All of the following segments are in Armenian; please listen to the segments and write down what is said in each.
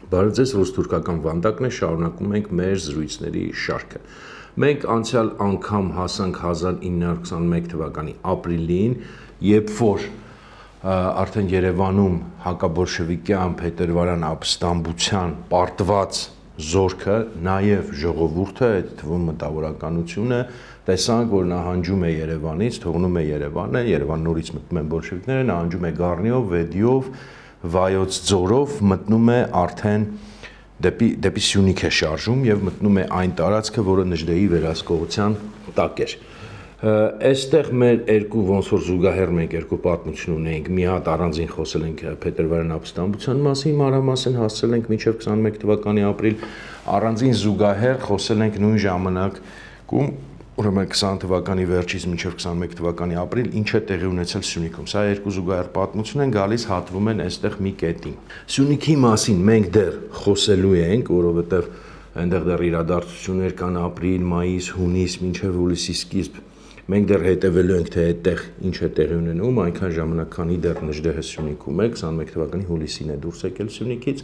Բարև ձեզ, ռուս-թուրքական վանդակն է, շարունակում ենք մեր զրույցների շարքը։ Մենք անցյալ անգամ հասանք 1921 թվականի ապրիլին, երբ որ արդեն Երևանում հակաբոլշևիկյան փետրվարյան ապստամբության պարտված զորքը, նաև ժողովուրդը, այդ թվում մտավորականությունը, տեսանք, որ նահանջում է Երևանից, թողնում է Երևանը, Երևան նորից մտնում են բոլշևիկները, նահանջում է Գառնիով, Վեդիով, Վայոց ձորով, մտնում է արդեն դեպի Սյունիք է շարժում եւ մտնում է այն տարածքը, որը Նժդեի վերահսկողության տակ էր։ Այստեղ մեր երկու ոնց որ զուգահեռ մենք երկու պատմություն ունենք, մի հատ առանձին խոսել ենք փետրվարյան ապստամբության մասին, մանրամասն հասցրել ենք մինչև 21 թվականի ապրիլ, առանձին զուգահեռ խոսել ենք նույն ժամանակում ուրեմն 20 թվականի վերջից մինչև 21 թվականի ապրիլ ինչ է տեղի ունեցել Սյունիքում։ Սա երկու զուգահեռ պատմություն են գալիս, հատվում են այստեղ մի կետին։ Սյունիքի մասին մենք դեռ խոսելու ենք, որովհետև այնտեղ դեռ իրադարձություններ կան ապրիլ, մայիս, հունիս, մինչև հուլիսի սկիզբ։ Մենք դեռ հետևելու ենք, թե այդտեղ ինչ է տեղի ունենում, այնքան ժամանակ, քանի դեռ Նժդեհը Սյունիքում է, 21 թվականի հուլիսին է դուրս եկել Սյունիքից։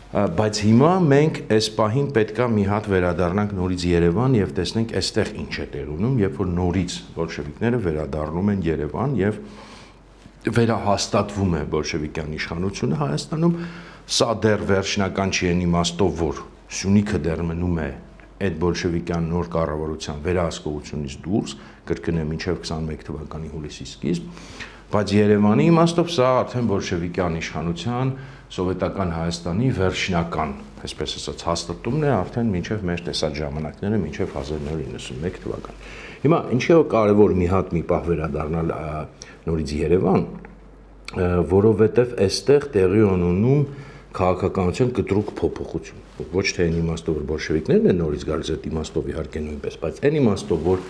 Բայց հիմա մենք այս պահին պետքա մի հատ վերադառնանք նորից Երևան եւ տեսնենք այստեղ ինչ է տեղի ունենում, երբ որ նորից բոլշևիկները վերադառնում են Երևան եւ վերահաստատվում է բոլշևիկյան իշխանությունը Հայաստանում։ Սա դեռ վերջնական չի այն իմաստով, որ Սյունիքը դեռ մնում է այդ բոլշևիկյան նոր կառավարության վերահսկողությունից դուրս, կրկնեմ մինչև 21 թվականի հուլիսի սկիզբ, բայց Երևանի իմաստով սա արդեն բոլշևիկյան իշխանության սովետական Հայաստանի վերջնական, այսպես ասած, հաստատումն է արդեն մինչև մեր տեսած ժամանակները, մինչև 1991 թվական։ Հիմա ինչի է կարևոր մի հատ մի պահ վերադառնալ նորից Երևան, որովհետև այստեղ տեղի ունենում քաղաքականության կտրուկ փոփոխություն։ Ոչ թե այն իմաստով, որ բոլշևիկներն են նորից գալիս, այդ իմաստով իհարկե նույնպես, բայց այն իմաստով, որ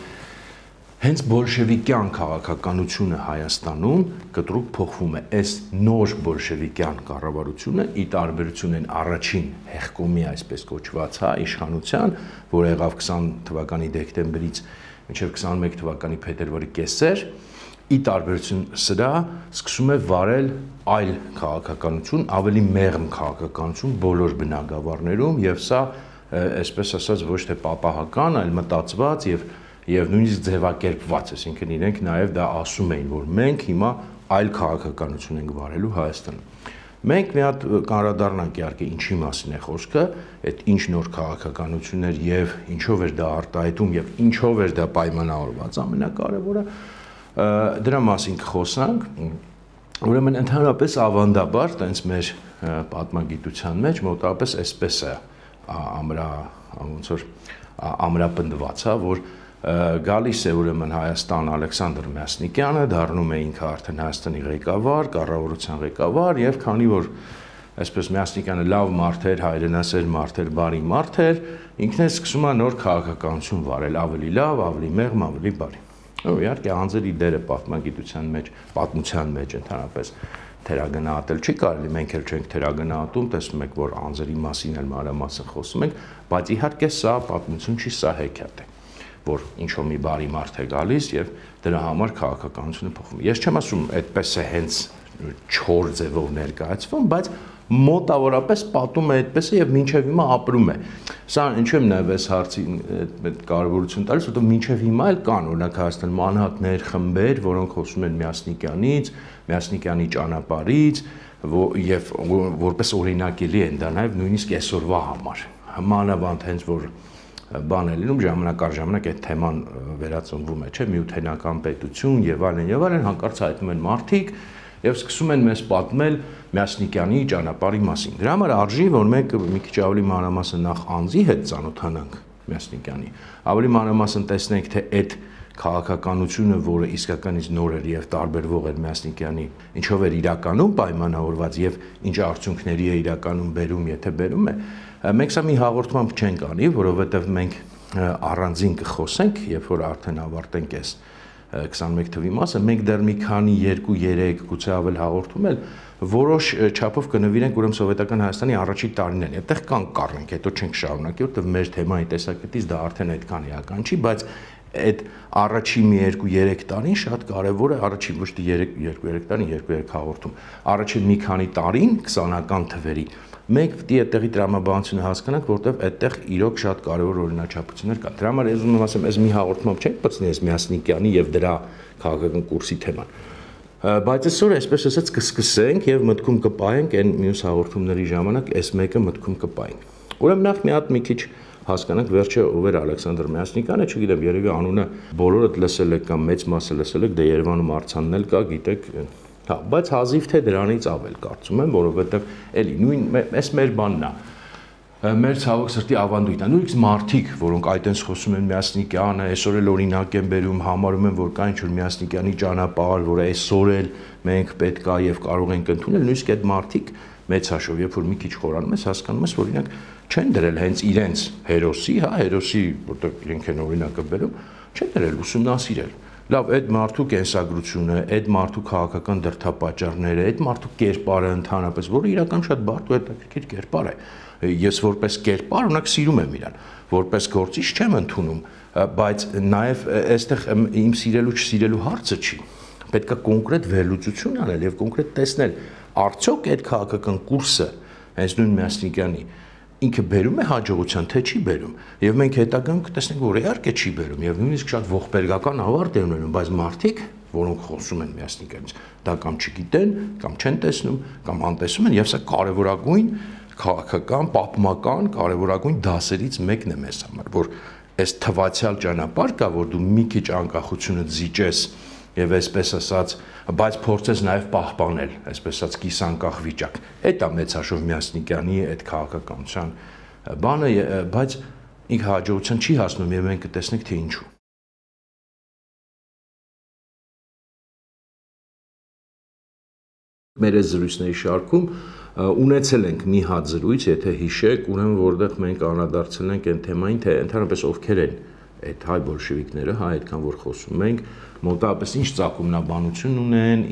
հենց բոլշևիկյան քաղաքականությունը Հայաստանում կտրուկ փոխվում է։ Այս նոր բոլշևիկյան կառավարությունը ի տարբերություն այն առաջին հեղկոմի, այսպես կոչված, իշխանության, որ եղավ 20 թվականի դեկտեմբերից մինչև 21 թվականի փետրվարի կեսեր, ի տարբերություն սրա սկսում է վարել այլ քաղաքականություն, ավելի մեղմ քաղաքականություն բոլոր բնագավառներում եւ սա, այսպես ասած, ոչ թե պապահական, այլ մտածված եւ նույնիսկ ձևակերպված, այսինքն իրենք նաև դա ասում էին, որ մենք հիմա այլ քաղաքականություն ենք վարելու Հայաստանում։ Մենք մի հատ կանրադառնանք իհարկե ինչի մասին է խոսքը, այդ ինչ նոր քաղաքականություններ եւ ինչով էր դա արտահայտում եւ ինչով էր դա պայմանավորված, ամենակարևորը դրա մասին կխոսանք։ Ուրեմն ընդհանրապես ավանդաբար, տենց մեր պատմագիտության մեջ մոտավորապես այսպես է ոնց որ ամրապնդված, որ գալիս է ուրեմն Հայաստան Ալեքսանդր Մյասնիկյանը, դառնում է ինքը արդեն Հայաստանի ղեկավար, կառավարության ղեկավար եւ քանի որ այսպես Մյասնիկյանը լավ մարդ էր, հայրենասեր մարդ էր, բարի մարդ էր, ինքն է սկսում է նոր քաղաքականություն վարել, ավելի լավ, ավելի մեղմ, ավելի բարի։ Իհարկե անձերի դերը պատմության մեջ ընդհանրապես թերագնահատել չի կարելի, մենք էլ չենք թերագնահատում, տեսնում եք, որ անձերի մասին էլ մանրամասն խոսում ենք, բայց իհարկե սա պատմություն չի, սա հեքիաթ է, որ ինչ-որ մի բարի մարդ է գալիս եւ դրա համար քաղաքականությունը փոխվում։ Ես չեմ ասում այդպես է հենց չոր ձևով ներկայացվում, բայց մոտավորապես պատումը այդպես է եւ մինչեւ հիմա ապրում է։ Սա ինչու եմ նաեւ այս հարցին կարևորություն տալիս, որովհետեւ մինչեւ հիմա էլ կան օրինակ Հայաստանում անհատներ, խմբեր, որոնք խոսում են Մյասնիկյանից, Մյասնիկյանի ճանապարհից եւ որպես օրինակելի են դա նաեւ նույնիսկ այսօրվա համար։ Մանավանդ հենց որ բան է լինում, ժամանակ առ ժամանակ այդ թեման վերածնվում է, չէ՞, միութենական պետություն եւ այլն, հանկարծ հայտնում են մարդիկ եւ սկսում են մեզ պատմել Մյասնիկյանի ճանապարհի մասին։ Դրա համար արժի, որ մենք մի քիչ ավելի մանրամասն նախ անձի հետ ծանոթանանք Մյասնիկյանի, ավելի մանրամասն տեսնենք, թե այդ քաղաքականությունը, որը իսկականից նոր էր եւ տարբերվող էր Մյասնիկյանի, ինչով էր իրականում պայմանավորված եւ ինչ արդյունքների է իրականում բերում, եթե բերում է, մենք սա մի հաղորդմամբ չենք անի, որովհետեւ մենք առանձին կխոսենք, երբ որ արդեն ավարտենք այս 21 թվի մասը, մենք դեռ մի քանի 2-3 գուցե ավել հաղորդում էլ որոշ չափով կնվիրենք ուրեմն սովետական Հայաստանի առաջին տարիներին։ Այդտեղ կան կառնենք, հետո չենք շարունակի, որովհետև մեր թեմայի տեսակետից դա արդեն այդքան էական չի, բայց այդ առաջին մի 2-3 տարին շատ կարևոր է, առաջին ոչ թե 2-3 տարին, 2-3 հաղորդում։ Առաջին մի քանի տարին 20-ական թվերի մենք պետք է այդտեղի տրամաբանությունը հասկանանք, որտեղ այդտեղ իրոք շատ կարևոր օրինաչափություններ կան։ Դրա համար ես ուզում եմ ասեմ, այս մի հաղորդմամբ չենք բացնի այս Մյասնիկյանի եւ դրա քաղաքական կուրսի թեման։ Բայց այսօր այսպես ասած կսկսենք եւ մտքում կպայենք այն մյուս հաղորդումների ժամանակ այս մեկը մտքում կպայենք։ Ուրեմն նախ մի հատ մի քիչ հասկանանք վերջը ով էր Ալեքսանդր Մյասնիկյանը, չգիտեմ, երևի անունը բոլորդ լսել եք կամ մեծ մասը լսել եք, դե Երևանում արձանն էլ կա, գիտեք, հա, բայց հազիվ թե դրանից ավել կարծում եմ, որովհետեւ էլի նույն այս մեր բանն է։ Մեր ցավոք սրտի ավանդույթն է։ Նույնիսկ մարդիկ, որոնք այդտենց խոսում են Մյասնիկյանը, այսօր էլ օրինակ են բերում, համարում են, որ կա ինչ-որ Մյասնիկյանի ճանապարհ, որ այսօր էլ մենք պետք է եւ կարող ենք ընդունել, նույնիսկ այդ մարդիկ մեծ հաշվով, երբ որ մի քիչ խորանում ես, հասկանում ես, որ օրինակ չեն դրել հենց իրենց հերոսի, հա, հերոսի, որտեղ իրենք են օրինակը բերում, չեն դրել ուսումնասիրել։ Լավ, այդ մարդու կենսագրությունը, այդ մարդու քաղաքական դրդապատճառները, այդ մարդու կերպարը ընդհանրապես, որը իրական շատ բարդ ու հետաքրքիր կերպար է։ Ես որպես կերպար ունակ սիրում եմ իրան, որպես գործիչ չեմ ընդունում, բայց նաև այստեղ իմ սիրելու չսիրելու հարցը չի։ Պետք է կոնկրետ վերլուծություն անել եւ կոնկրետ տեսնել, արդյոք այդ քաղաքական կուրսը, հենց նույն Մյասնիկյանի, ինքը բերում է հաջողության, թե չի բերում։ Եվ մենք հետագայում կտեսնենք, որ իհարկե չի բերում եւ նույնիսկ շատ ողբերգական ավարտ է ունենում, բայց մարդիկ, որոնք խոսում են Մյասնիկյանից, դա կամ չգիտեն, կամ չեն տեսնում, կամ անտեսում են, եւ սա կարեւորագույն քաղաքական, պատմական կարևորագույն դասերից մեկն է մեզ համար, որ այս թվացial ճանապարհ կա, որ դու մի քիչ անկախությունը զիջես եւ այսպես ասած, բայց փորձես նաեւ պահպանել, այսպես ասած կիսանկախ վիճակ։ Այդ է մեծ հաշվով Մյասնիկյանի այդ քաղաքականության բանը, բայց ինքը հաջողության չի հասնում եւ մենք կտեսնենք թե ինչու։ Մեր այս զրույցների շարքում ունեցել ենք մի հատ զրույց, եթե հիշեք, ուրեմն որտեղ մենք անդրադարձել ենք այն թեմային, թե ընդհանրապես ովքեր են այդ հայ բոլշևիկները, հա, այդքան որ խոսում ենք, մոտավորապես ինչ ծագումնաբանություն ունեն,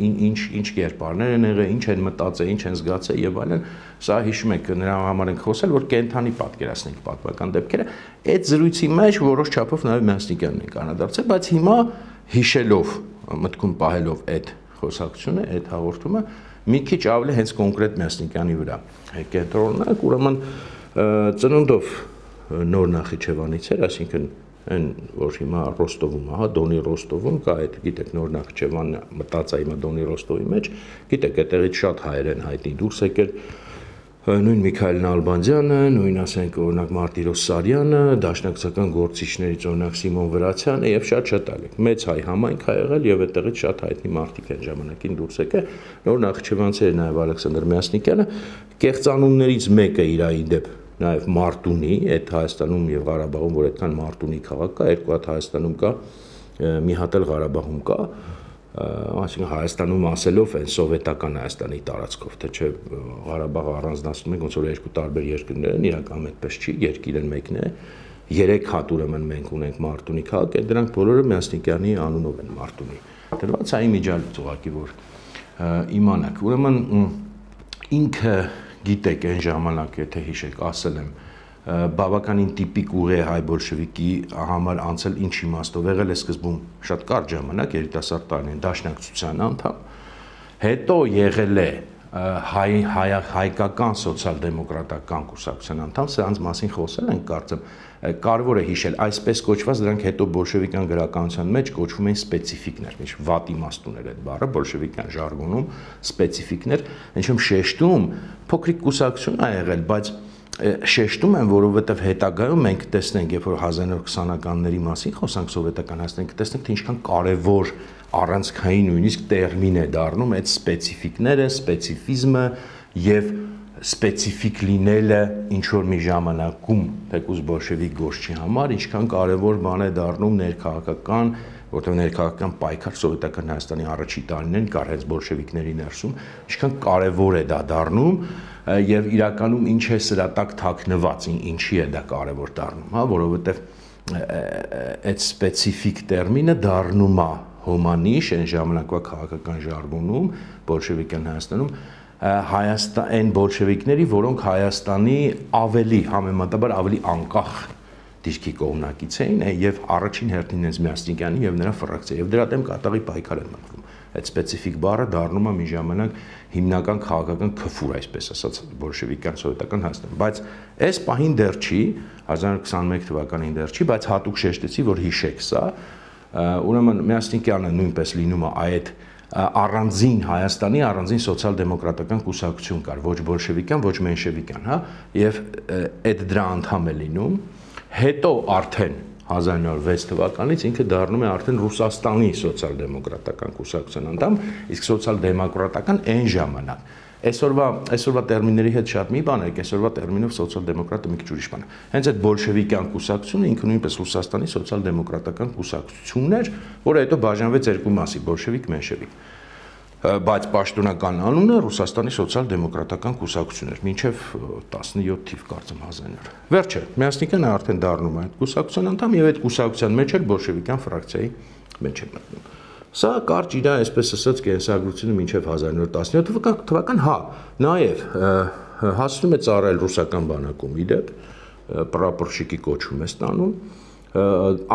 ինչ կերպարներ են եղել, ինչ են մտածել, ինչ են զգացել եւ այլն, սա հիշում եք, նրա համար ենք խոսել, որ կենթանի պատկերացնենք պատմական դեպքերը, այդ զրույցի մեջ որոշ չափով նաեւ Մյասնիկյանն ենք անդրադարձել, բայց հիմա հիշելով, մտքում պահելով այդ խոսակցությունը, այդ հաղորդումը մի քիչ ավելի հենց կոնկրետ Մյասնիկյանի վրա կենտրոնանանք, ուրեմն ծնունդով նոր Նախիջևանից էր, այսինքն այն որ հիմա Ռոստովում, հա, Դոնի Ռոստովում կա, այդ գիտեք նոր Նախիջևանը մտած է հիմա Դոնի Ռոստովի մեջ, գիտեք այդտեղից շատ հայեր են հայտնի դուրս եկել, նույն Միքայել Նալբանդյանը, նույն ասենք օրինակ Մարտիրոս Սարյանը, դաշնակցական գործիչներից օրինակ Սիմոն Վրացյանը եւ շատ այլ։ Մեծ հայ համայնք ա եղել եւ այդտեղից շատ հայտնի մարդիկ են ժամանակին դուրս եկել։ Նոր Նախիջևանցի էր նաեւ Ալեքսանդր Մյասնիկյանը, կեղծանուններից մեկը իր դեպ նաեւ Մարտունի, այդ Հայաստանում եւ Ղարաբաղում, որ այդքան Մարտունի քաղաք կա, երկու հատ Հայաստանում կա, մի հատ էլ Ղարաբաղում կա, այսինքն Հայաստանում ասելով այն սովետական Հայաստանի տարածքով, թե չէ Ղարաբաղը առանձնացնում ենք ոնց որ երկու տարբեր երկրներ են, իրական այդպես չի, երկիրը մեկն է, 3 հատ ուրեմն մենք ունենք Մարտունի քաղաք, այդ դրանք բոլորը Մյասնիկյանի անունով են Մարտունի։ Դրված է իմիջիալից ուղղակի որ իմանաք, ուրեմն ինքը գիտեք այն ժամանակ, եթե հիշեք, ասել եմ, բավականին տիպիկ ուղի հայ բոլշևիկի համար անցել ինչ իմաստով եղել է սկզբում շատ կարճ ժամանակ երիտասարդ տարիներին դաշնակցության անդամ, հետո եղել է հայկական սոցիալ-դեմոկրատական կուսակցության անդամ, սրանց մասին խոսել ենք կարծեմ, կարևոր է հիշել, այսպես կոչված դրանք հետո բոլշևիկյան գրականության մեջ կոչվում են սպეციფիկներ, ինչ վատ իմաստ ուներ այդ բառը բոլշևիկյան ժարգոնում սպეციფիկներ, ինչում շեշտում փոքրիկ կուսակցություն ա եղել, բայց շեշտում են, որովհետև հետագայում մենք տեսնենք, երբ որ 1920-ականների մասին խոսանք սովետական Հայաստանի, կտեսնենք, թե ինչքան կարևոր առանցքային նույնիսկ տերմին է դառնում այդ սպეციფիկները, սպეციფիզմը եւ սպეციფիկ լինելը ինչ որ մի ժամանակում թեկուզ բոլշևիկ գործչի համար, ինչքան կարևոր բան է դառնում ներքաղաքական, որտեղ ներքաղաքական պայքար սովետական Հայաստանի առաջի տարիներին կար հենց բոլշևիկների ներսում, ինչքան կարևոր է դա դառնում եւ իրականում ինչ է սրա տակ թաքնված, ինչի է դա կարևոր դառնում, հա, որովհետեւ այդ սպეციფիկ տերմինը դառնում է հոմանիշ այն ժամանակվա քաղաքական ժարգոնում բոլշևիկյան Հայաստանում այն բոլշևիկների, որոնք Հայաստանի ավելի համեմատաբար ավելի անկախ դիրքի կողմնակից էին եւ առաջին հերթին հենց Մյասնիկյանի եւ նրա ֆրակցիա եւ դրա դեմ կատաղի պայքար են մղում։ Այդ սպეციფიկ բառը դառնում է մի ժամանակ հիմնական քաղաքական քֆուր, այսպես ասած, բոլշևիկյան սովետական Հայաստանում, բայց այս պահին դեռ չի, 1921 թվականին դեռ չի, բայց հատուկ շեշտեցի, որ հիշեք սա, ուրեմն Մյասնիկյանը նույնպես լինում է այդ առանձին Հայաստանի առանձին սոցիալ-դեմոկրատական կուսակցություն կար, ոչ բոլշևիկյան, ոչ մենշևիկյան, հա, եւ այդ դրա անդամ է լինում, հետո արդեն 1906 թվականից ինքը դառնում է արդեն Ռուսաստանի սոցիալ-դեմոկրատական կուսակցության անդամ, իսկ սոցիալ-դեմոկրատական այն ժամանակ այսօրվա տերմինների հետ շատ մի բան է, այսօրվա տերմինով սոցիալ-դեմոկրատը մի քիչ ուրիշ բան է։ Հենց այդ բոլշևիկյան կուսակցությունը ինքը նույնպես Ռուսաստանի սոցիալ-դեմոկրատական կուսակցությունն էր, որը հետո բաժանվեց երկու մասի՝ բոլշևիկ, մենշևիկ։ Բայց պաշտոնական անունը Ռուսաստանի սոցիալ-դեմոկրատական կուսակցություն էր, մինչև 17 թիվ կարծեմ 1900։ Վերջը Մյասնիկյանը արդեն դառնում է այդ կուսակցության անդամ եւ այդ կուսակցության մեջ էլ բոլշևիկյան ֆրակցիայի մեջ է մտնում։ Սա կարճ իր այսպես ասած կենսագրությունը մինչև 1917 թվական, հա, նաև հասնում է ծառայել ռուսական բանակում իդեպ, պրապորշիկի կոչում է ստանում,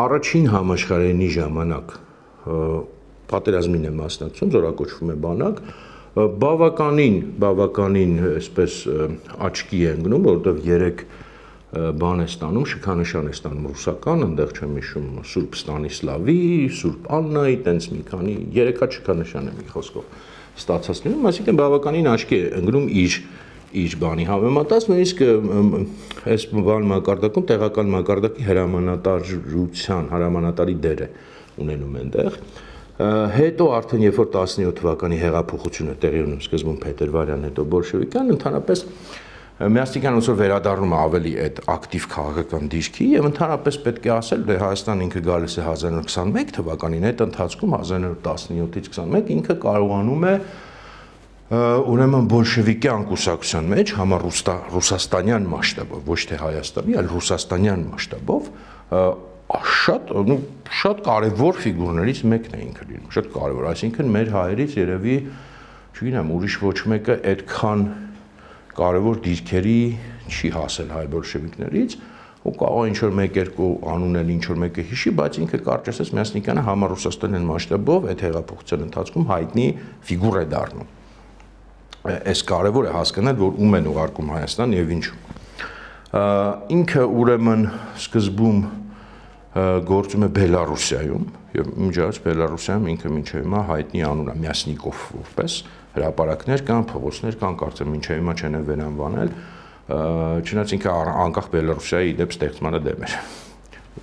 առաջին համաշխարհայինի ժամանակ պատերազմին է մասնակցում, զորակոչվում է բանակ, բավականին այսպես աչքի է ընկնում, որովհետև 3 բան է ստանում, շքանշան է ստանում ռուսական, այնտեղ չեմ հիշում Սուրբ Ստանիսլավի, Սուրբ Աննայի, տենց մի քանի 3 հատ շքանշան է մի խոսքով ստացած լինում, այսինքն բավականին աչքի է ընկնում իր բանի համեմատած, նույնիսկ այս բան մակարդակում տեղական մակարդակի հրամանատարի դեր է ունենում այնտեղ։ Հետո արդեն երբ որ 17 թվականի հեղափոխությունը տեղի ունում սկզբում փետրվարյան, հետո բոլշևիկյան, ընդհանրապես Մյասնիկյանը ոնց որ վերադառնում է ավելի այդ ակտիվ քաղաքական դիրքի եւ ընդհանրապես պետք է ասել, դե Հայաստան ինքը գալիս է 1921 թվականին, այդ ընթացքում 1917-ից 21 ինքը կարողանում է ուրեմն բոլշևիկյան կուսակցության մեջ համառուսաստանյան մասշտաբով, ոչ թե Հայաստանի, այլ ռուսաստանյան մասշտաբով շատ կարևոր ֆիգուրներից մեկն է ինքը լինում, շատ կարևոր, այսինքն մեր հայերից երևի, չգիտեմ, ուրիշ ոչ մեկը այդքան կարևոր դիրքերի չի հասել հայ բոլշևիկներից, ու կարող ինչ-որ 1-2 անուն էլ ինչ-որ մեկը հիշի, բայց ինքը կարճ ասած Մյասնիկյանը համառուսաստանյան մասշտաբով այդ հեղափոխության ընթացքում հայտնի ֆիգուր է դառնում։ Այս կարևոր է հասկանալ, որ ում են ուղարկում Հայաստան եւ ինչու։ Ինքը ուրեմն սկզբում գործում է Բելարուսիայում եւ միջազգ Բելարուսիայում ինքը մինչեւ հիմա հայտնի անուն է Մյասնիկով որպես հրապարակներ կան, փողոցներ կան, կարծեմ մինչև հիմա չեն վերանվանել, չնայած ինքը անկախ Բելարուսիայի իդեպ ստեղծմանը դեմ էր,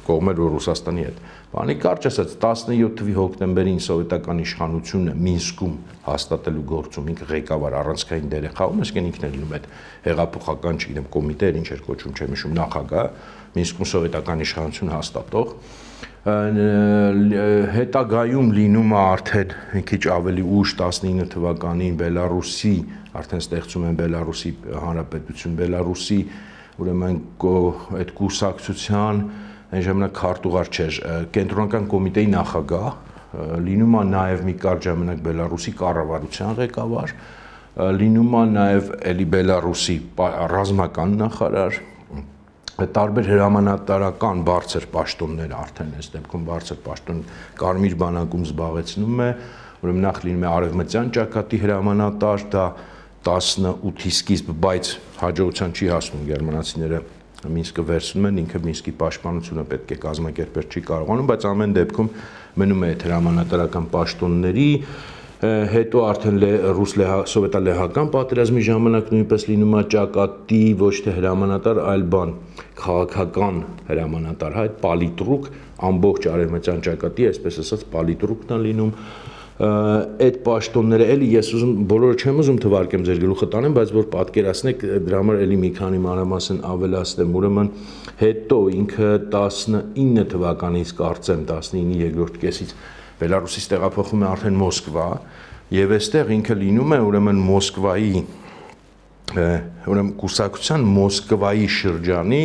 կողմեր որ Ռուսաստանի հետ։ Բանի կարճ ասած 17 թվականի հոկտեմբերին սովետական իշխանությունը Մինսկում հաստատելու գործում ինքը ղեկավար առանցքային դեր է խաղում, այսինքն ինքն է լինում այդ հեղափոխական, չգիտեմ, կոմիտե, ինչ էր կոչում, չեմ հիշում, նախագահ, Մինսկում սովետական իշխանություն հաստատող, հետագայում լինում է արդեն մի քիչ ավելի ուշ 19 թվականին Բելարուսի, արդեն ստեղծում են Բելարուսի հանրապետություն, Բելարուսի ուրեմն այդ կուսակցության այն ժամանակ քարտուղար չէր, կենտրոնական կոմիտեի նախագահ, լինում է նաև մի կարճ ժամանակ Բելարուսի կառավարության ղեկավար, լինում է նաև էլի Բելարուսի ռազմական նախարար, տարբեր հրամանատարական բարձր պաշտոններ արդեն այս դեպքում բարձր պաշտոն Կարմիր բանակում զբաղեցնում է, ուրեմն նախ լինում է արևմտյան ճակատի հրամանատար, դա 18-ի սկիզբ, բայց հաջողության չի հասնում գերմանացիները Մինսկը վերցնում են, ինքը Մինսկի պաշտպանությունը պետք է կազմակերպել չի կարողանում, բայց ամեն դեպքում մնում է այդ հրամանատարական պաշտոնների, հետո արդեն սովետալեհական պատերազմի ժամանակ նույնպես լինում է ճակատի ոչ թե հրամանատար, այլ բան քաղաքական հրամանատար, այդ պալիտրուկ ամբողջ արևմտյան ճակատի, այսպես ասած պալիտրուկն է լինում, այդ պաշտոնները էլի ես ուզում բոլորը չեմ ուզում թվարկեմ ձեր գլուխը տանեմ, բայց որ պատկերացնեք դրա համար էլի մի քանի մանրամասն ավելացնեմ, ուրեմն հետո ինքը 19 թվականից կարծեմ 19-ի երկրորդ կեսից Բելարուսից տեղափոխվում է արդեն Մոսկվա եւ այստեղ ինքը լինում է ուրեմն Մոսկվայի ուրեմն կուսակցության Մոսկվայի շրջանի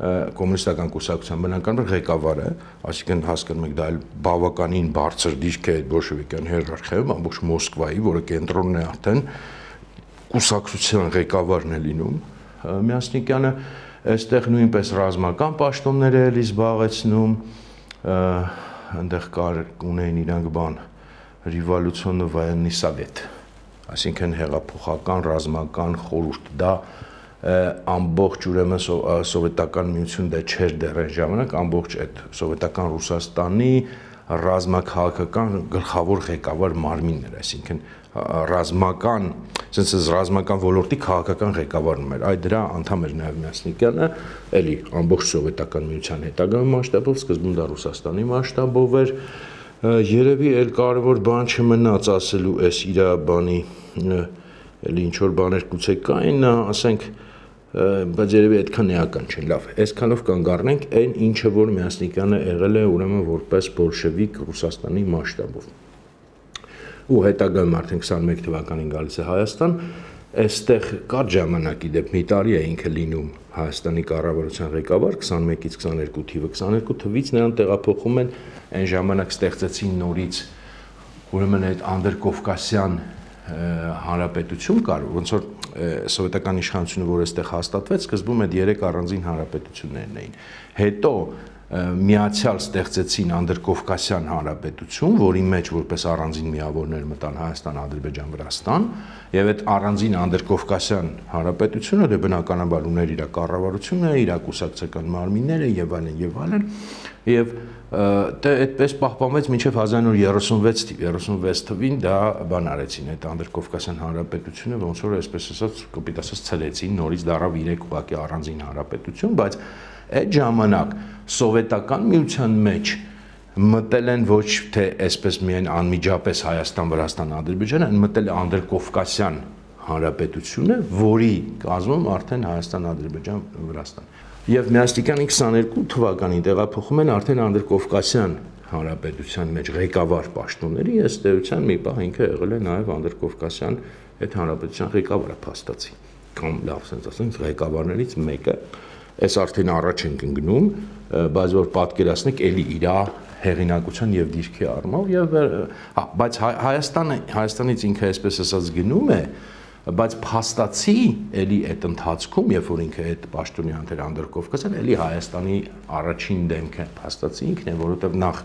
կոմունիստական կուսակցության բնականաբար ղեկավարը, այսինքն հասկանում եք դա այլ բավականին բարձր դիրք է այդ բոլշևիկյան հիերարխիայում, ամբողջ Մոսկվայի, որը կենտրոնն է արդեն կուսակցության ղեկավարն է լինում Մյասնիկյանը, Այստեղ նույնպես ռազմական պաշտոններ է էլի զբաղեցնում, այնտեղ կար ունեին իրանք բան Ռևոլյուցիոննի военный совет, այսինքն հեղափոխական ռազմական խորհուրդ, դա ամբողջ ուրեմն սովետական միություն դա չէր դեռ այն ժամանակ, ամբողջ այդ սովետական Ռուսաստանի ռազմաքաղաքական գլխավոր ղեկավար մարմինն էր, այսինքն ռազմական, ասենց ռազմական ոլորտի քաղաքական ղեկավարն էր, այդ դրա անդամ էր նաև Մյասնիկյանը, էլի ամբողջ սովետական միության հետագա մասշտաբով, սկզբում դա Ռուսաստանի մասշտաբով էր, երևի էլ կարևոր բան չմնաց ասելու այս իր բանի, էլի ինչ որ բաներ գուցե կային, ասենք, բայց երևի այդքան էական չեն, լավ, այսքանով կանգ առնենք այն ինչը որ Մյասնիկյանը եղել է ուրեմն որպես բոլշևիկ Ռուսաստանի մասշտաբով։ Ու հետագայում արդեն 21 թվականին գալիս է Հայաստան, այստեղ կար ժամանակի դեպ մի տարի է ինքը լինում Հայաստանի կառավարության ղեկավար 21-ից 22 թիվը, 22 թվից նրան տեղափոխում են այն ժամանակ ստեղծեցին նորից ուրեմն այդ անդրկովկասյան հանրապետություն կար, ոնց որ սովետական իշխանությունը, որ այստեղ հաստատվեց, սկզբում այդ 3 առանձին հանրապետություններն էին։ Հետո միացյալ ստեղծեցին անդրկովկասյան հանրապետություն, որի մեջ որպես առանձին միավորներ մտան Հայաստան, Ադրբեջան, Վրաստան, եւ այդ առանձին անդրկովկասյան հանրապետությունը դե բնականաբար ուներ իր կառավարությունը, իր կուսակցական մարմինները եւ այլն, եւ դե այդպես պահպանվեց մինչև 1936 թիվ, 36 թվին դա բան արեցին, այդ անդրկովկասյան հանրապետությունը ոնց որ այսպես ասած, կոպիտ ասած ցլեցին, նորից դառավ 3 ուղղակի առանձին հանրապետություն, բայց այդ ժամանակ սովետական միության մեջ մտել են ոչ թե այսպես միայն անմիջապես Հայաստան, Վրաստան, Ադրբեջան, այն մտել է անդրկովկասյան հանրապետությունը, որի կազմում արդեն Հայաստան, Ադրբեջան, Վրաստան։ Եվ Մյասնիկյանի 22 թվականին տեղափոխում են արդեն անդրկովկասյան հանրապետության մեջ ղեկավար պաշտոնների, ըստ էության մի պահ ինքը եղել է նաև անդրկովկասյան այդ հանրապետության ղեկավարը փաստացի, կամ լավ ասած ասենք ղեկավարներից մեկը, այս արդեն առաջ ենք ընկնում, բայց որ պատկերացնեք էլի իր հեղինակության եւ դիրքի առումով եւ բայց Հայաստանից ինքը այսպես ասած գնում է, բայց փաստացի էլի այդ ընթացքում, երբ որ ինքը այդ պաշտոնի անտեր անդրկովկասյան, էլի Հայաստանի առաջին դեմքը փաստացի ինքն է, որովհետեւ նախ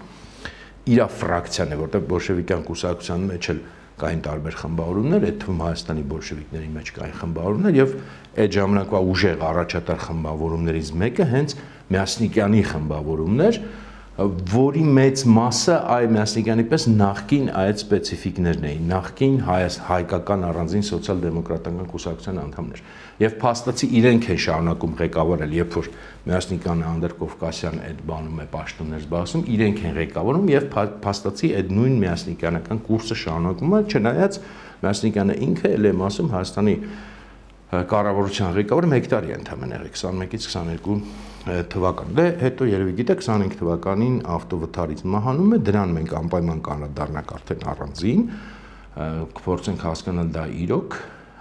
իր ֆրակցիան է, որովհետեւ բոլշևիկյան կուսակցության մեջ էլ կային տարբեր խմբավորումներ, այդ թվում Հայաստանի բոլշևիկների մեջ կային խմբավորումներ եւ այդ ժամանակվա ուժեղ առաջատար խմբավորումներից մեկը հենց Մյասնիկյանի խմբավորումն էր, որի մեծ մասը այ Մյասնիկյանի պես նախկին այդ սպეციფիկներն էին, նախկին հայկական առանձին սոցիալ-դեմոկրատական կուսակցության անդամներ։ Եվ փաստացի իրենք են շարունակում ղեկավարել, երբ որ Մյասնիկյանը անդրկովկասյան այդ բանում է պաշտոններ զբաղեցնում, իրենք են ղեկավարում եւ փաստացի այդ նույն Մյասնիկյանական կուրսը շարունակում է, չնայած Մյասնիկյանը ինքը էլ եմ ասում Հայաստանի կառավարության ղեկավարը 1 տարի ընդամենը 21-ից 22 թվական։ Դե հետո երևի գիտեք 25 թվականին ավտովթարից մահանում է, դրան մենք անպայման կանադառնանք արդեն առանձին, կփորձենք հասկանալ դա իրոք,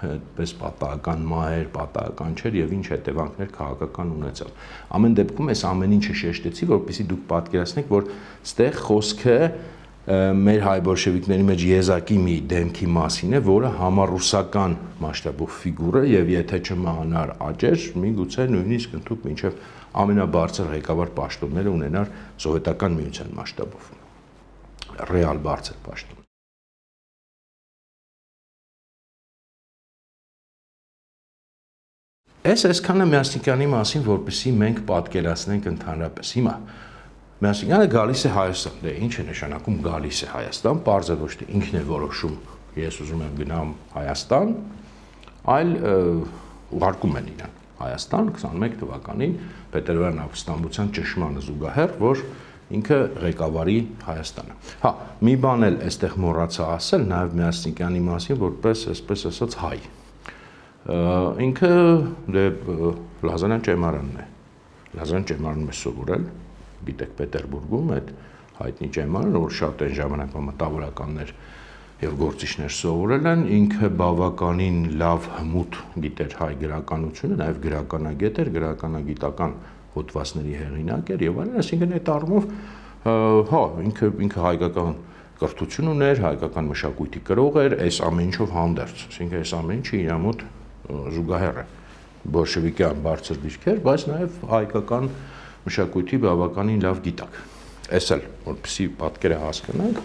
այդպես պատահական մահեր, պատահական չէր եւ ինչ հետևանքներ քաղաքական ունեցավ։ Ամեն դեպքում այս ամեն ինչը շեշտեցի, որպեսզի դուք պատկերացնեք, որ ստեղ խոսքը մեր հայ բոլշևիկների մեջ եզակի մի դեմքի մասին է, որը համառուսական մասշտաբով ֆիգուր է եւ եթե չմահանար աճեր, միգուցե նույնիսկ ընդհանուր մինչեւ ամենաբարձր ղեկավար պաշտոնները ունենար սովետական միության մասշտաբով։ Ռեալ բարձր պաշտոն։ Այսքանը Մյասնիկյանի մասին, որպեսզի մենք պատկերացնենք ընդհանրապես։ Հիմա Մյասնիկյանը գալիս է Հայաստան, դե ինչ է նշանակում գալիս է Հայաստան, պարզ է ոչ թե ինքն է որոշում, ես ուզում եմ գնամ Հայաստան, այլ ուղարկում են իրան Հայաստան 21 թվականին Պետերբերն ապստամբության ճշմարանը զուգահեռ, որ ինքը ղեկավարի Հայաստանը։ Հա, մի բան էլ այստեղ մոռացա ասել նաև Մյասնիկյանի մասին, որպես այսպես ասած հայ։ Ինքը դե Լազանյան ճեմարանն է։ Լազանյան ճեմարանում է սովորել, գիտեք Պետերբուրգում այդ հայտնի ճեմարանը, որ շատ այն ժամանակվա մտավորականներ եւ գործիչներ սովորել են, ինքը բավականին լավ հմուտ գիտեր հայ գրականությունը, նաեւ գրականագետ էր, գրականագիտական հոդվածների հեղինակ էր եւ այլն, այսինքն այդ առումով հա ինքը հայկական կրթություն ուներ, հայկական մշակույթի կրող էր, այս ամեն ինչով հանդերձ, այսինքն այս ամեն ինչը իր մոտ զուգահեռ է։ բոլշևիկյան բարձր դիրքեր, բայց նաև հայկական մշակույթի բավականին լավ գիտակ։ Էս էլ որպեսզի պատկերը հասկանանք,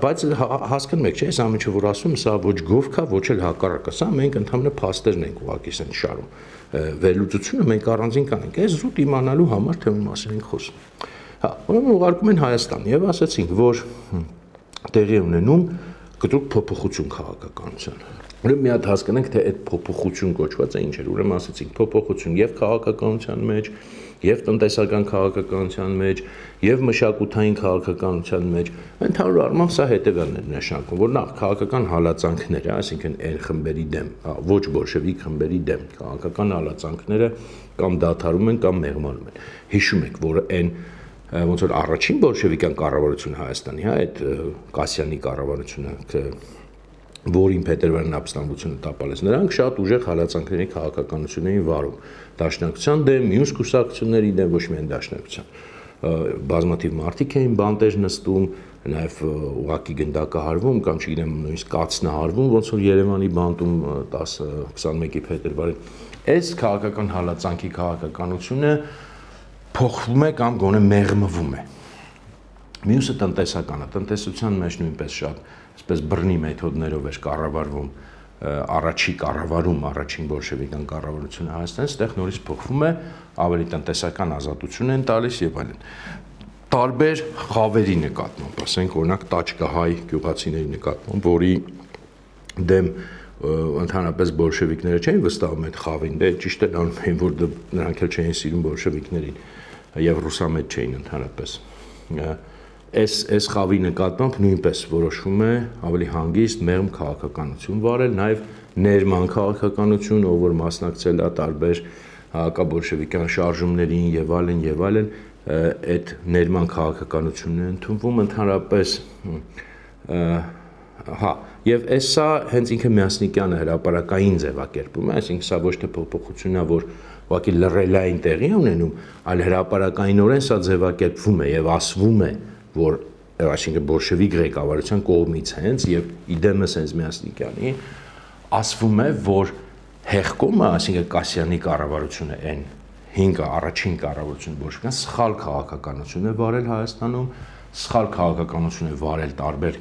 բայց հասկանում եք, չէ՞, այս ամենը որ ասում եմ, սա ոչ գովքա, ոչ էլ հակառակը, սա մենք ընդհանրապես փաստերն ենք ուղղակի սեն շարում։ Վերլուծությունը մենք առանձին կանենք, այս զուտ իմանալու համար թե ում մասին ենք խոսում։ Հա, ուրեմն ուղարկում են Հայաստան եւ ասացինք, որ տեղի ունենում կտրուկ փոփոխություն քաղաքականության։ Ուրեմն մի հատ հասկանանք, թե այդ փոփոխություն կոչված է ինչ էր։ Ուրեմն ասացինք փոփոխություն եւ քաղաքականության մեջ, եւ տնտեսական քաղաքականության մեջ, եւ մշակութային քաղաքականության մեջ։ Ընդհանուր առմամբ սա հետեւյալն է նշանակում, որ նախ քաղաքական հալածանքները, այսինքն այն խմբերի դեմ, ոչ բոլշևիկ խմբերի դեմ քաղաքական հալածանքները կամ դադարում են կամ մեղմանում են։ Հիշում եք, որ այն ոնց որ առաջին բոլշևիկյան կառավարությունը Հայաստանի, հա, այդ Կասյանի կառավարությունը, որին Փետրվարյան ապստամբությունը տապալեց, նրանք շատ ուժեղ հալածանքների քաղաքականություն էին վարում դաշնակցության դեմ, մյուս կուսակցությունների դեմ, ոչ միայն դաշնակցության։ Բազմաթիվ մարդիկ էին բանտեր նստում, նաև ուղակի գնդակահարվում կամ չգիտեմ նույնիսկ կացնահարվում, ոնց որ Երևանի բանտում 10-21-ի փետրվարին։ Այս քաղաքական հալածանքի քաղաքականությունը փոխվում է կամ գոնե մեղմվում է։ Մյուսը տնտեսականը, տնտեսության մեջ նույնպես շատ այսպես բռնի մեթոդներով էր կառավարվում առաջի կառավարում, առաջին բոլշևիկյան կառավարությունը Հայաստանից, այդտեղ նորից փոխվում է, ավելի տնտեսական ազատություն են տալիս եւ այլն։ Տարբեր խավերի նկատմամբ, ասենք օրինակ տաճկահայ գյուղացիների նկատմամբ, որի դեմ ընդհանրապես բոլշևիկները չէին վստահում այդ խավին, դե ճիշտ է անում էին, որ նրանք էլ չէին սիրում բոլշևիկներին եւ ռուսամետ չէին ընդհանրապես։ Այս խավի նկատմամբ նույնպես որոշվում է ավելի հանգիստ մեղմ քաղաքականություն վարել, նաև ներման քաղաքականություն, ով որ մասնակցել է տարբեր հակաբոլշևիկյան շարժումներին եւ այլն, այդ ներման քաղաքականությունն է ընդունվում ընդհանրապես, հա, եւ սա հենց ինքը Միասնիկյանը հրապարակային ձևակերպում է, այսինքն սա ոչ թե փոփոխությունն է, որ ուղղակի լռելային տեղի ունենում, այլ հրապարակայինորեն սա ձևակերպվում է եւ ասվում է, որ այսինքն բոլշևիկ ղեկավարության կողմից հենց եւ իդեմս հենց Միասնիկյանի ասվում է, որ հեղկոմը, այսինքն Կասյանի կառավարությունը այն 5 առաջին կառավարությունը բոլշևիկյան սխալ քաղաքականություն է վարել Հայաստանում, սխալ քաղաքականություն է վարել տարբեր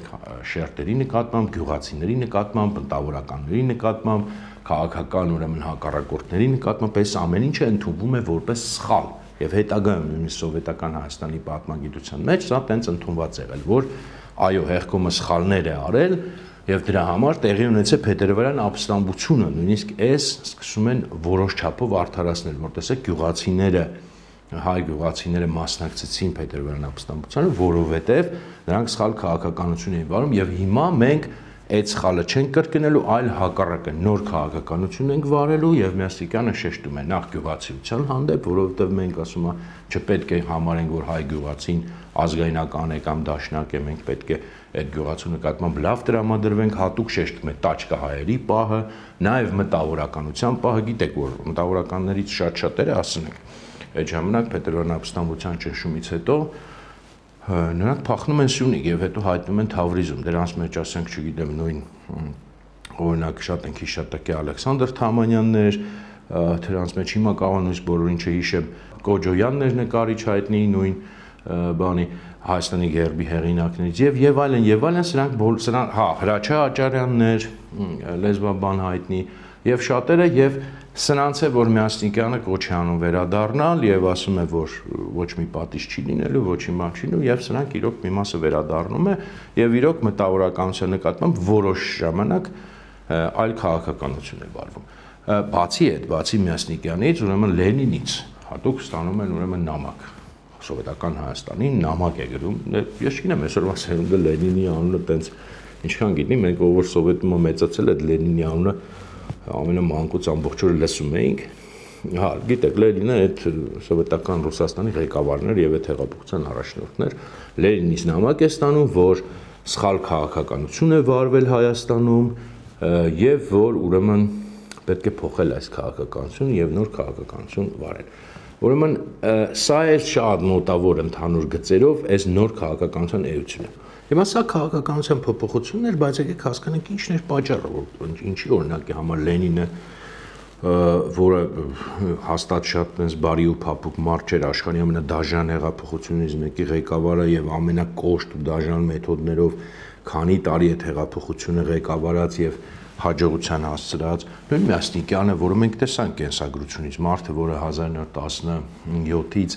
շերտերի նկատմամբ, գյուղացիների նկատմամբ, ընտավորականների նկատմամբ, քաղաքական ուրեմն հակառակորդների նկատմամբ, այս ամեն ինչը ընդունվում է որպես սխալ եւ հետագայում նույնիսկ սովետական Հայաստանի պատմագիտության մեջ սա տենց ընդունված եղել, որ այո, հեղկոմը սխալներ է արել եւ դրա համար տեղի ունեցել Փետրվարյան ապստամբությունը, նույնիսկ սկսում են որոշ չափով արդարացնել, որ տեսեք գյուղացիները, հայ գյուղացիները մասնակցեցին Փետրվարյան ապստամբությանը, որովհետեւ նրանք սխալ քաղաքականություն էին վարում եւ հիմա մենք այդ սխալը չենք կրկնելու, այլ հակառակը նոր քաղաքականություն ենք վարելու եւ Միասնիկյանը շեշտում է նախ գյուղացիության հանդեպ, որովհետեւ մենք ասում ենք չպետք է համարենք, որ հայ գյուղացին ազգայնական է կամ դաշնակ է, մենք պետք է այդ գյուղացու նկատմամբ լավ տրամադրվենք, հատուկ շեշտում է տաճկահայերի պահը, նաեւ մտավորականության պահը, գիտեք որ մտավորականներից շատ-շատերը ասենք այդ ժամանակ Փետրվարյան ապստամբության ճնշումից հետո նրանք փախնում են Սյունիք եւ հետո հայտնում են Թավրիզում, դրանց մեջ ասենք, չգիտեմ, նույն օրինակ շատ ենք հիշատակի Ալեքսանդր Թամանյաններ, դրանց մեջ հիմա կարող նույնիսկ բոլորին չհիշեմ, Կոջոյաններ նկարիչ հայտնի նույն բանի Հայաստանի գերբի հեղինակներից եւ այլն, սրանք հա Հրաչյա Աճարյաններ, լեզվաբան հայտնի եւ շատերը եւ սրանց է որ Միասնիկյանը կոչ է անում վերադառնալ եւ ասում է որ ոչ մի պատիժ չի լինելու, ոչ մի բան չի լինելու եւ սրանք իրոք մի մասը վերադառնում է եւ իրոք մտավորականության նկատմամբ որոշ ժամանակ այլ քաղաքականություն է վարվում։ Բացի այդ, բացի Միասնիկյանից, ուրեմն Լենինից հատուկ ստանում են ուրեմն նամակ սովետական Հայաստանին նամակ է գրում, ես չգիտեմ այսօրվա սերունդը Լենինի անունը տենց ինչքան գիտի, մենք ով որ սովետում մեծացել այդ Լենինի անունը ամենամանկուց ամբողջ օրը լսում էինք, հա, գիտեք, Լենինը այդ սովետական Ռուսաստանի ղեկավարն էր եւ այդ հեղափոխության առաջնորդն էր, Լենինից նամակ է ստանում, որ սխալ քաղաքականություն է վարվել Հայաստանում եւ որ ուրեմն պետք է փոխել այս քաղաքականությունը եւ նոր քաղաքականություն վարել։ Ուրեմն սա է շատ մոտավոր ընդհանուր գծերով այս նոր քաղաքականության էությունը։ Հիմա սա քաղաքականության փոփոխությունն էր, բայց եկեք հասկանանք ինչն էր պատճառը, որ ինչի օրինակի համար Լենինը որը հաստատ շատ այնպես բարի ու փափուկ մարդ չէր, աշխարհի ամենադաժան հեղափոխությունից մեկի ղեկավարը եւ ամենակոշտ ու դաժան մեթոդներով քանի տարի այդ հեղափոխությունը ղեկավարած եւ հաջողության հասցրած նույն Մյասնիկյանը, որը մենք տեսանք կենսագրությունից, մարդը, որը 1917-ից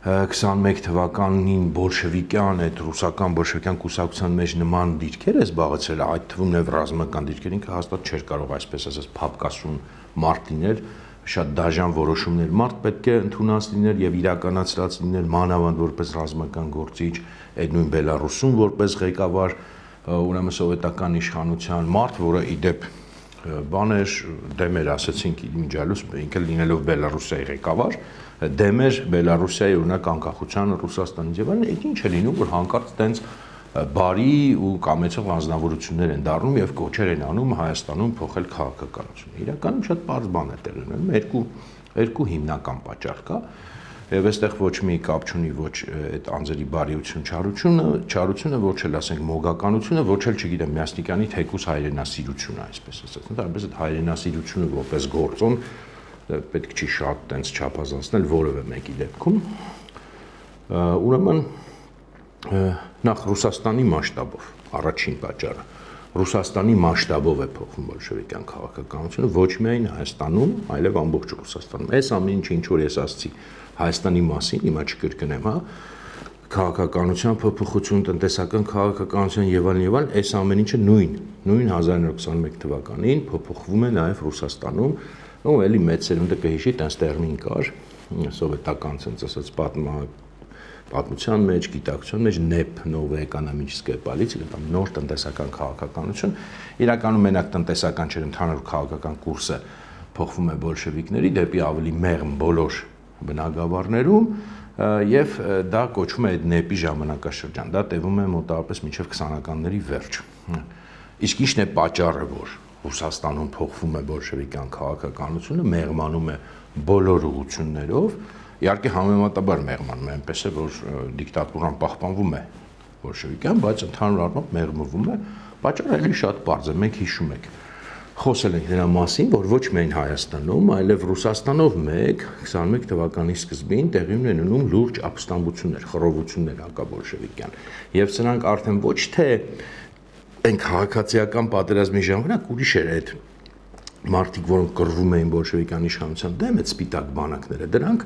21 թվականին բոլշևիկյան, այդ ռուսական բոլշևիկյան կուսակցության մեջ նման դիրքեր է զբաղեցրել, այդ թվում նաև ռազմական դիրքեր, ինքը հաստատ չէր կարող այսպես ասած փապկասուն մարդ լինել, շատ դաժան որոշումներ մարդ պետք է ընդունած լիներ եւ իրականացրած լիներ մանավանդ որպես ռազմական գործիչ, այդ նույն Բելարուսում որպես ղեկավար, ուրեմն սովետական իշխանության մարդ, որը իդեպ բան էր, դեմ էր, ասացինք իմիջիալուս, ինքը լինելով Բելարուսիայի ղեկավար, դեմ էր Բելարուսիայի օրինակ անկախության Ռուսաստանից եւ այլն, այդ ինչ է լինում, որ հանկարծ տենց բարի ու կամեցող անձնավորություններ են դառնում եւ կոչեր են անում Հայաստանում փոխել քաղաքականությունը։ Իրականում շատ པարզ բան է տեղի ունենում, երկու հիմնական պատճառ կա։ Եվ այստեղ ոչ մի կապ չունի ոչ այդ անձերի բարիություն, չարությունը, ոչ էլ ասենք մոգականությունը, ոչ էլ չգիտեմ Մյասնիկյանի թեկուս հայրենասիրությունը, այսպես ասած։ Ընդհանրապես այդ հայրենասիրությունը որպես գործոն պետք չի շատ տենց չափազանցնել որևէ մեկի դեպքում։ Ուրեմն նախ Ռուսաստանի մասշտաբով առաջին պատճառը Ռուսաստանի մասշտաբով է փոխվում բոլշևիկյան քաղաքականությունը ոչ միայն Հայաստանում, այլև ամբողջ Ռուսաստանում։ Այս ամեն ինչը ինչ որ ես ասացի Հայաստանի մասին, հիմա չկրկնեմ, հա, քաղաքականության փոփոխություն, տնտեսական քաղաքականության եւ այլն, այս ամեն ինչը նույն 1921 թվականին փոփոխվում է նաեւ Ռուսաստանում, ու էլի մեծ սերունդը կհիշի, տենց տերմին կար, սովետական ցած ասած պատմության մեջ, գիտակցության մեջ NEP, Новая экономическая политика, կամ նոր տնտեսական քաղաքականություն, իրականում մենակ տնտեսական չէ, ընդհանուր քաղաքական կուրսը փոխվում է բոլշևիկների դեպի ավելի մեղմ բոլոր բնակավարներում եւ դա կոչվում է այդ NEP-ի ժամանակաշրջան, դա տևում է մոտավորապես մինչեւ 20-ականների վերջ։ Իսկ ի՞նչն է պատճառը, որ Ռուսաստանում փոխվում է բոլշևիկյան քաղաքականությունը, մեղմանում է բոլոր ուղղություններով, իհարկե համեմատաբար մեղմանում է, այնպես է, որ դիկտատուրան պահպանվում է բոլշևիկյան, բայց ընդհանուր առմամբ մեղմվում է, պատճառը էլի շատ պարզ է, մենք հիշում ենք։ Խոսել ենք նրա մասին, որ ոչ միայն Հայաստանում, այլև Ռուսաստանով մեկ 21 թվականի սկզբին տեղի ունենում լուրջ ապստամբություններ, խռովություններ հակաբոլշևիկյան, եւ սրանք արդեն ոչ թե այն քաղաքացիական պատերազմի ժամանակ ուրիշ էր այդ մարդիկ, որոնք կռվում էին բոլշևիկյան իշխանության դեմ, այդ սպիտակ բանակները, դրանք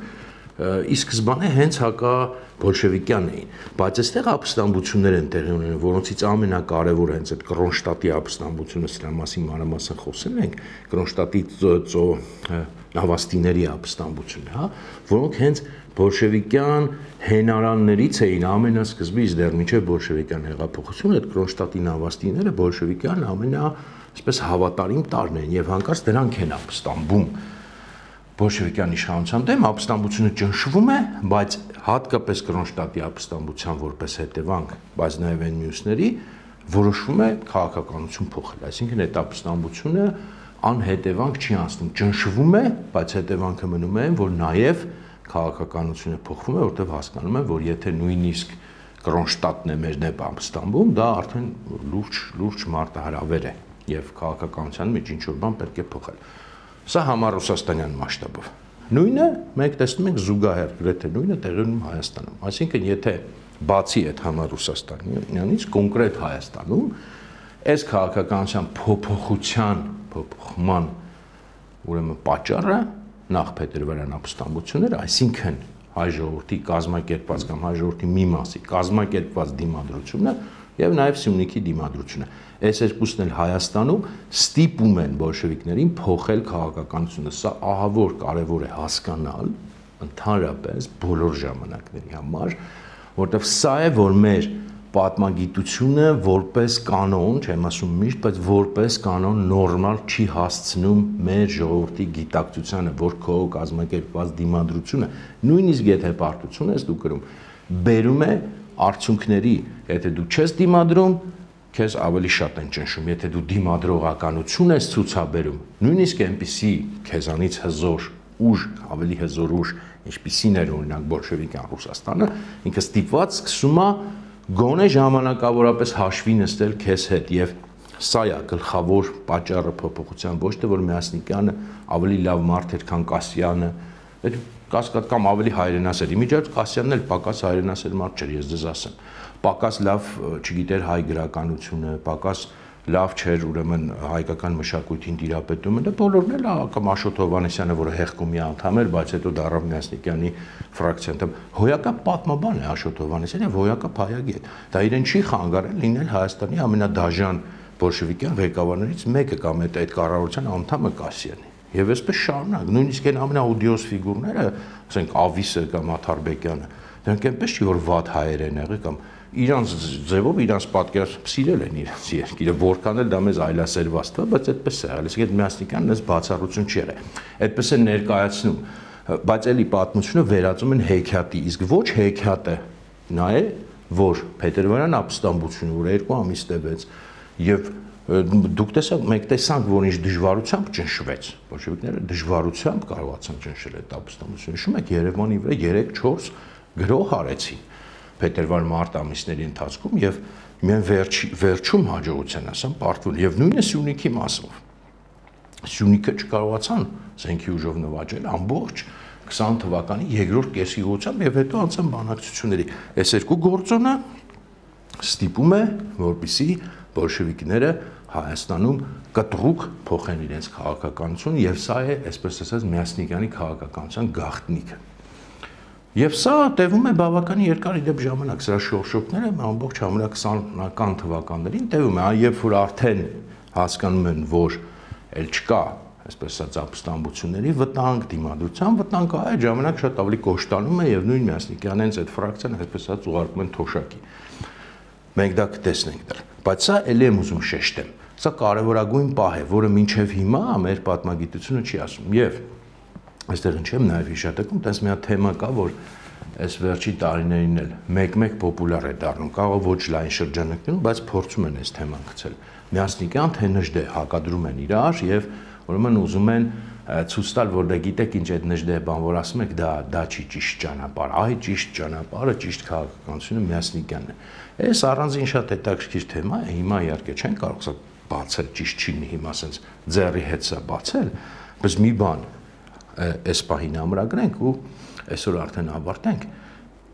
ի սկզբանե հենց հակաբոլշևիկյան էին, բայց այստեղ ապստամբություններ են տեղի ունենում, որոնցից ամենակարևորը հենց այդ Կրոնշտատի ապստամբությունը, սրա մասին մանրամասն խոսել ենք, Կրոնշտատի նավաստիների ապստամբությունը, հա, որոնք հենց բոլշևիկյան հենարաններից էին ամենասկզբից դեռ մինչև բոլշևիկյան հեղափոխությունը, այդ Կրոնշտատի նավաստիները բոլշևիկյան այսպես հավատարիմ տարրն են եւ հանկարծ դրանք են ապստամբում բոլշևիկյան իշխանության դեմ, ապստամբությունը ճնշվում է, բայց հատկապես Կրոնշտատի ապստամբության որպես հետևանք, բայց նաեւ այն մյուսների որոշվում է քաղաքականություն փոխել, այսինքն այդ ապստամբությունը անհետևանք չի անցնում, ճնշվում է, բայց հետևանքը մնում է այն, որ նաեւ քաղաքականությունը փոխվում է, որտեղ հասկանում են, որ եթե նույնիսկ Կրոնշտատն է մեր դեմ ապստամբում, դա արդեն լուրջ մարտահրավեր է եւ քաղաքականության մեջ ինչ որ բան պետք է փոխել։ Սա համառուսաստանյան մասշտաբով։ Նույնը մենք տեսնում ենք զուգահեռ գրեթե նույնը տեղի ունենում Հայաստանում։ Այսինքն եթե բացի այդ համառուսաստանյանից կոնկրետ Հայաստանում այս քաղաքականության փոփոխման ուրեմն պատճառը նախ Փետրվարյան ապստամբությունները, այսինքն հայ ժողովրդի կազմակերպված կամ հայ ժողովրդի մի մասի կազմակերպված դիմադրությունը եւ նաեւ Սյունիքի դիմադրությունը։ Այս երկուսն էլ Հայաստանում ստիպում են բոլշևիկներին փոխել քաղաքականությունը։ Սա ահավոր կարևոր է հասկանալ ընդհանրապես բոլոր ժամանակների համար, որտեղ սա է, որ մեր պատմագիտությունը որպես կանոն, չեմ ասում միշտ, բայց որպես կանոն նորմալ չի հասցնում մեր ժողովրդի գիտակցությանը, որ քո կազմակերպված դիմադրությունը, նույնիսկ եթե պարտություն ես դու կրում, բերում է արդյունքների, եթե դու չես դիմադրում, քեզ ավելի շատ են ճնշում, եթե դու դիմադրողականություն ես ցուցաբերում, նույնիսկ այնպիսի քեզանից հզոր ուժ, ավելի հզոր ուժ, ինչպիսին էր օրինակ բոլշևիկյան Ռուսաստանը, ինքը ստիպված սկսում է գոնե ժամանակավորապես հաշվի նստել քեզ հետ եւ Սա է գլխավոր պատճառը փոփոխության, ոչ թե որ Մյասնիկյանը ավելի լավ մարդ էր, քան Կասյանը, կասկած կամ ավելի հայրենասեր։ Իմիջիայլոց Կասյանն էլ պակաս հայրենասեր մարդ չէր, ես ձեզ ասեմ։ Պակաս լավ չգիտեր հայ գրականությունը, պակաս լավ չէր ուրեմն հայկական մշակույթին տիրապետումը, դա բոլորն էլ կամ Աշոտ Հովհաննիսյանը, որը հեղկումի անդամ էր, բայց հետո դառավ Մյասնիկյանի ֆրակցիան անդամ, հոյակապ պատմաբան է Աշոտ Հովհաննիսյանը, հոյակապ հայագետ։ Դա իրեն չի խանգարել լինել Հայաստանի ամենադաժան բոլշևիկյան ղեկավարներից մեկը կամ այդ կառավարության անդամը Կասյանի։ Եվ այսպես շարունակ, նույնիսկ այն ամենաուդիոս ֆիգուրները, ասենք Ավիսը կամ Աթարբեկյանը, դրանք այնպես չի որ վատ հայեր են եղել կամ իրանց ձևով իրանց պատկերացում սիրել են իրենց երկիրը, որքան էլ դա մեզ այլասերված թվա, բայց այդպես է եղել։ Իսկ այդ Մյասնիկյանն այս բացառություն չի եղել։ Այդպես է ներկայացնում, բայց էլի պատմությունը վերածում են հեքիաթի, իսկ ոչ հեքիաթը նա է, որ Փետրվարյան ապստամբությունը, որ 2 ամիս տևեց, եւ դուք մենք տեսանք, որ ինչ դժվարությամբ ճնշվեց, բոլշևիկները դժվարությամբ կարողացան ճնշել այդ ապստամբությունը։ Հիշում եք Երևանի վրա 3-4 գրող արեցին փետրվար-մարտ ամիսների ընթացքում եւ միայն վերջում հաջողության ասեմ պարտվել եւ նույնը Սյունիքի մասով Սյունիքը չկարողացան զենքի ուժով նվաճել ամբողջ 20 թվականի երկրորդ կեսգիգությամբ եւ հետո անցան բանակցությունների այս երկու գործոնը ստիպում է որպեսզի բոլշևիկները Հայաստանում կտրուկ փոխեն իրենց քաղաքականություն եւ սա է այսպես ասած Մյասնիկյանի քաղաքականության գաղտնիքը Եվ սա տևում է բավական երկար իդեպ ժամանակ, սրա շորշոկները ամբողջ ժամանակ 20-ական թվականներին տևում է, երբ որ արդեն հասկանում են, որ էլ չկա, այսպես ասած, ապստամբությունների վտանգ, դիմադրության վտանգ, այդ ժամանակ շատ ավելի կոշտանում է եւ նույն Մյասնիկյանն հենց այդ ֆրակցիան, այսպես ասած, ուղարկում են թոշակի։ Մենք դա կտեսնենք դեռ, բայց սա ելի եմ ուզում շեշտեմ։ Սա կարևորագույն պահ է, որը մինչև հիմա մեր պատմագիտությունը չի ասում եւ Այստեղ ինչեմ նաև հիշատակում, տես մի հատ թեմա կա, որ այս վերջի տարիներին էլ մեկ-մեկ պոպուլար է դառնում, կարող ոչ լայն շրջանակներում, բայց փորձում են այս թեման գցել։ Մյասնիկյան թե Նժդե հակադրում են իրար եւ ուրեմն ուզում են ցույց տալ, որ դե գիտեք ինչ այդ Նժդե բան որ ասում եք, դա չի ճիշտ ճանապարհ, այ ճիշտ ճանապարհը, ճիշտ քաղաքականությունը Մյասնիկյանն է։ Այս առանձին շատ հետաքրքիր թեմա է, հիմա իհարկե չեն կարող սա բացել, ճիշտ չի հիմա ասենց ձեռի հետ սա բացել, բայց մի բան այս պահին ամրագրենք ու այսօր արդեն ավարտենք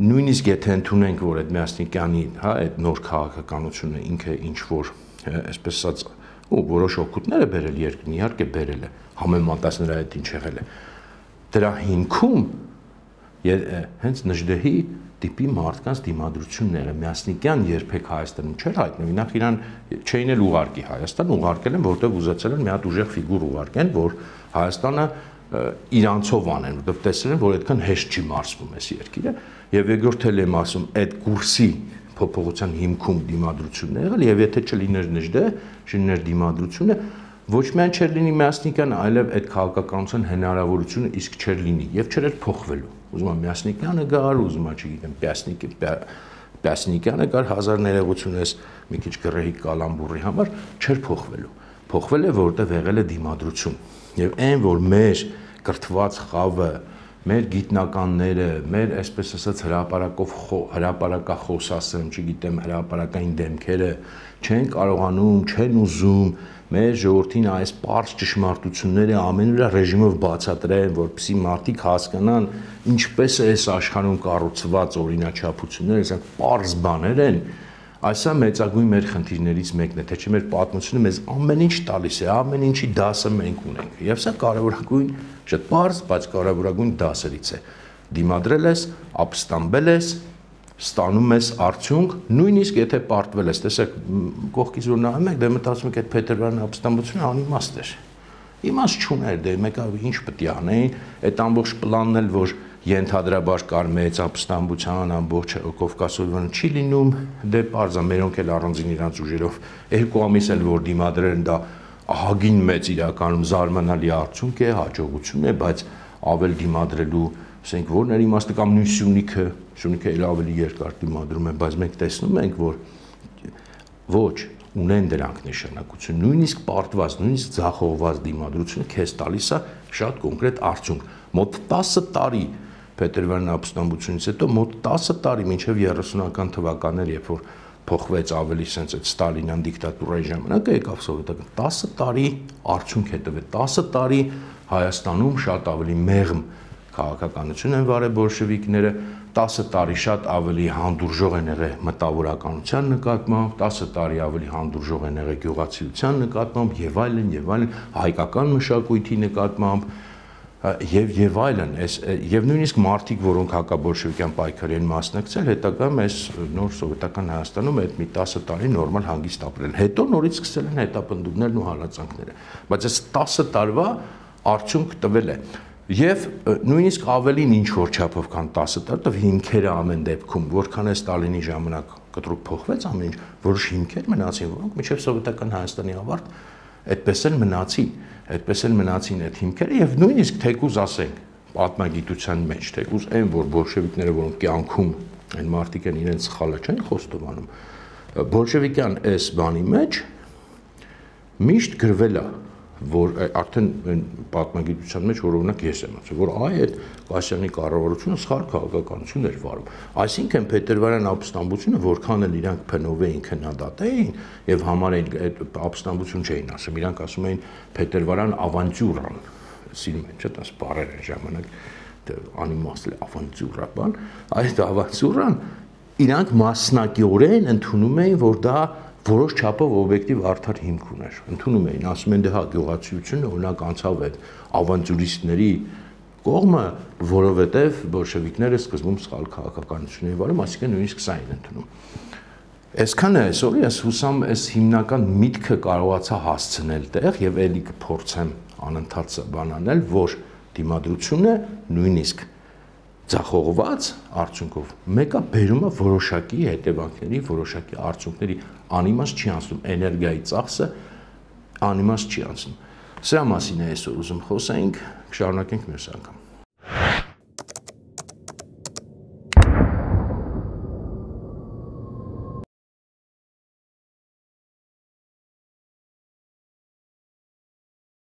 նույնիսկ եթե ընդունենք որ այդ Մյասնիկյանի հա այդ նոր քաղաքականությունը ինքը ինչ որ այսպես ասած ու որոշ օգուտներ է բերել երկրին իհարկե բերել է համեմատած նրա հետ ինչ եղել է դրա հիմքում հենց Նժդեհի տիպի մարդկանց դիմադրությունները Մյասնիկյան երբեք Հայաստանում չէր հայտնվում նախ իրան չէին էլ ուղարկի Հայաստան ուղարկել են որտեղ ուզեցել են մի հատ ուժեղ ֆիգուր ուղարկեն որ Հայաստանը իրանցով անեն, որտեղ տեսել են, որ այդքան հեշտ չի մարսվում այս երկիրը, եւ երկրորդ էլ եմ ասում, այդ կուրսի փոփոխության հիմքում դիմադրությունն է եղել, եւ եթե չլիներ Նժդե, չլիներ դիմադրությունը, ոչ միայն չէր լինի Մյասնիկյանը, այլև այդ քաղաքականության հնարավորությունը իսկ չէր լինի եւ չէր փոխվելու։ Ուզում եմ Մյասնիկյանը գար, ուզում եմ, չգիտեմ, Պյասնիկյանը գար 1000 ներողությունես մի քիչ գրեհիկ կալամբուրի համար չէր փոխվելու։ Փոխվել է, որտեղ եղել է դիմադրություն։ Եվ այն, որ մեր կրթված խավը, մեր գիտնականները, մեր այսպես ասած հրապարակախոսասեմ, չգիտեմ, հրապարակային դեմքերը չեն կարողանում, չեն ուզում մեր ժողովրդին այս պարզ ճշմարտությունները ամեն ուր ռեժիմով բացատրեն, որպեսզի մարդիկ հասկանան ինչպես է այս աշխարհում կառուցված օրինաչափությունները, այսինքն պարզ բաներ են, այսա մեծագույն մեր խնդիրներից մեկն է, թե չէ մեր պատմությունը մեզ ամեն ինչ տալիս է, ամեն ինչի դասը մենք ունենք։ Եվ սա կարևորագույն, շատ պարզ, բայց կարևորագույն դասերից է։ Դիմադրել ես, ապստամբել ես, ստանում ես արդյունք, նույնիսկ եթե պարտվել ես, տեսեք, կողքից որ նայում եք, դե մտածում եք այդ Փետրվարյան ապստամբությունը անիմաստ էր։ Իմաստ չուներ, դե մեկը ինչ պետք է անեին, այդ ամբողջ պլանն էլ որ ենթադրաբար կար մեծ ապստամբության ամբողջ Կովկասովյան չի լինում, դե պարզ է, մերոնք էլ առանձին իրանց ուժերով 2 ամիս էլ որ դիմադրել են դա ահագին մեծ իրականում զարմանալի արդյունք է, հաջողություն է, բայց ավել դիմադրելու, ասենք որն էր իմաստը կամ նույն Սյունիքը էլ ավելի երկար դիմադրում է, բայց մենք տեսնում ենք, որ ոչ ունեն դրանք նշանակություն, նույնիսկ պարտված, նույնիսկ ձախողված դիմադրությունը քեզ տալիս է շատ կոնկրետ արդյունք։ Մոտ 10 տարի Փետրվարյան ապստամբությունից հետո մոտ 10 տարի մինչև 30-ական թվականներ, երբ որ փոխվեց ավելի sense այդ Ստալինյան դիկտատուրայի ժամանակը եկավ սովետական 10 տարի արդյունք է տվել 10 տարի Հայաստանում շատ ավելի մեղմ քաղաքականություն են վարել բոլշևիկները 10 տարի շատ ավելի հանդուրժող են եղել մտավորականության նկատմամբ 10 տարի ավելի հանդուրժող են եղել գյուղացիության նկատմամբ եւ այլն հայկական մշակույթի նկատմամբ եւ այլն եւ նույնիսկ մարդիկ որոնք հակաբոլշևիկյան պայքարի են մասնակցել հետագայում այս նոր սովետական Հայաստանում այդ մի 10 տարի նորմալ հանգիստ ապրել հետո նորից սկսել են հետապնդումներն ու հալածանքները բայց այս 10 տարվա արդյունք տվել է եւ նույնիսկ ավելին ինչ որ չափով քան 10 տարի հիմքերը ամեն դեպքում որքան է Ստալինի ժամանակ կտրուկ փոխվեց ամեն ինչ որոշ հիմքեր մնացին որոնք մինչեւ սովետական Հայաստանի ավարտ այդպես էլ մնացին այդ հիմքերը եւ նույնիսկ թեկուզ ասենք պատմագիտության մեջ թեկուզ այն որ բոլշևիկները որոնք կյանքում այն մարդիկ են իրենց սխալը չեն խոստովանում բոլշևիկյան այս բանի մեջ միշտ գրվել է որ արդեն պատմագիտության մեջ որ օրինակ ես եմ ասում որ այդ Կասյանի կառավարությունը սխալ քաղաքականություն էր վարում այսինքն Փետրվարյան ապստամբությունը որքան էլ իրանք փնով էին քննադատեին եւ համարեին այդ ապստամբություն չէին ասում իրանք ասում էին Փետրվարյան ավանտյուրան սիրում են չէ՞ դաս բառեր են ժամանակ անիմաստ ավանտյուրա բան այդ ավանտյուրան իրանք մասնակիորեն ընդունում էին որ դա որոշ չափով օբյեկտիվ արդար հիմք ուներ ընդունում էին ասում են դե հա գյուղացիությունը օրինակ անցավ այդ ավանտյուրիստների կողմը որովհետև բոլշևիկները սկզբում սխալ քաղաքականություն էին վարում այսինքն նույնիսկ սա էին ընդունում այսքանը այսօր ես հուսամ այս հիմնական միտքը կարողացա հասցնել տեղ եւ ելի կփորձեմ անընդհատ բանանել որ դիմադրությունը նույնիսկ ձախողված արդյունքով մեկը բերում է որոշակի հետևանքների, որոշակի արդյունքների անիմաստ չի անցնում, էներգիայի ծախսը անիմաստ չի անցնում։ Սրա մասին է այսօր ուզում խոսենք, կշարունակենք մյուս անգամ։